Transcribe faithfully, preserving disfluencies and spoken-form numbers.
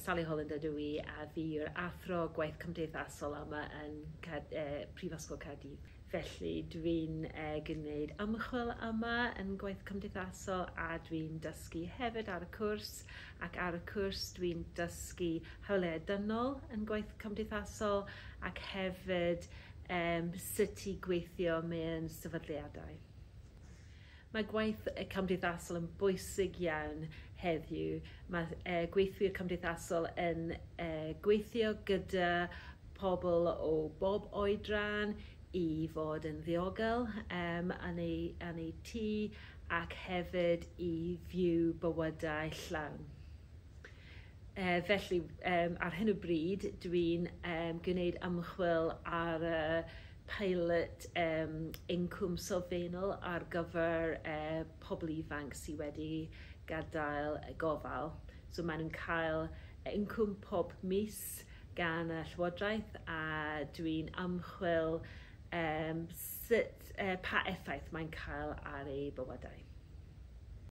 Sally Holland ydw i a fi yw'r athro gwaith cymdeithasol yma yn Cad- eh, Prifysgol Caerdydd. Felly dwi'n eh, gwneud ymchwil yma yn gwaith cymdeithasol a dwi'n dysgu hefyd ar y cwrs ac ar y cwrs dwi'n dysgu hawliau dynol yn gwaith cymdeithasol ac hefyd um, sut i gweithio mewn sefydliadau. Mae gwaith cymdeithasol yn bwysig iawn heddiw. Mae uh, gweithwyr cymdeithasol yn uh, gweithio gyda pobl o bob oedran i fod yn ddiogel um, yn, ei, yn ei tŷ ac hefyd i fyw bywydau llawn. Uh, felly, um, ar hyn o bryd, dwi'n um, gwneud ymchwil ar y uh, pilot um, incwm sylfaenol ar gyfer uh, pobl ifanc sydd wedi gadael gofal. So maen nhw'n cael incwm pob mis gan y Llywodraeth a dwi'n ymchwil um, sut, uh, pa effaith mae'n cael ar eu bywydau.